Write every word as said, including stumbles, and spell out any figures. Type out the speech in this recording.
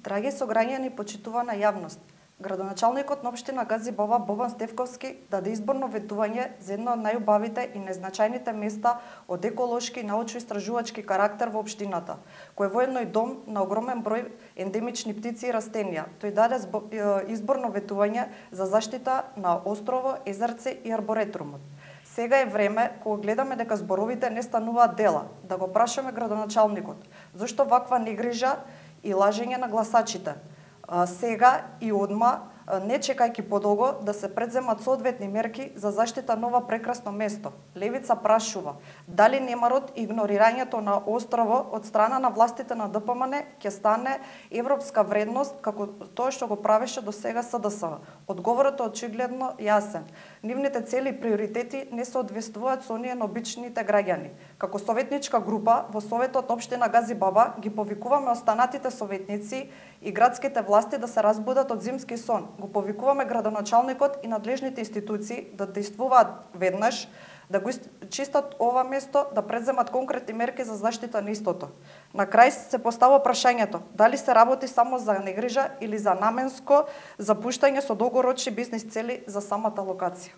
Драги сограѓани, почитувана јавност, градоначалникот на општина Гази Баба Бобан Стефковски даде изборно ветување за едно од најубавите и незначајните места од еколошки и научно-истражувачки карактер во општината, кој е воедно и дом на огромен број ендемични птици и растенија. Тој даде изборно ветување за заштита на острово, езерце и арборетрумот. Сега е време, кога гледаме дека зборовите не стануваат дела, да го прашаме градоначалникот зошто ваква негрижа и лажење на гласачите. Сега и одма, не чекајќи подолго, да се предземат соодветни мерки за заштита на ова прекрасно место. Левица прашува, дали немарот и игнорирањето на острово од страна на властите на Д П М Н ќе стане европска вредност, како тоа што го правеше до сега С Д С В? Одговорот е очигледно јасен. Нивните цели и приоритети не се одвестуваат со оние на обичните граѓани. Како советничка група во Советот општина Гази Баба ги повикуваме останатите советници и градските власти да се разбудат од зимски сон. Го повикуваме градоначалникот и надлежните институции да действуваат веднаш, да го чистат ова место, да преземат конкретни мерки за заштита на истото. На крај се постава прашањето, дали се работи само за негрижа или за наменско запуштање со долгорочни бизнис цели за самата локација.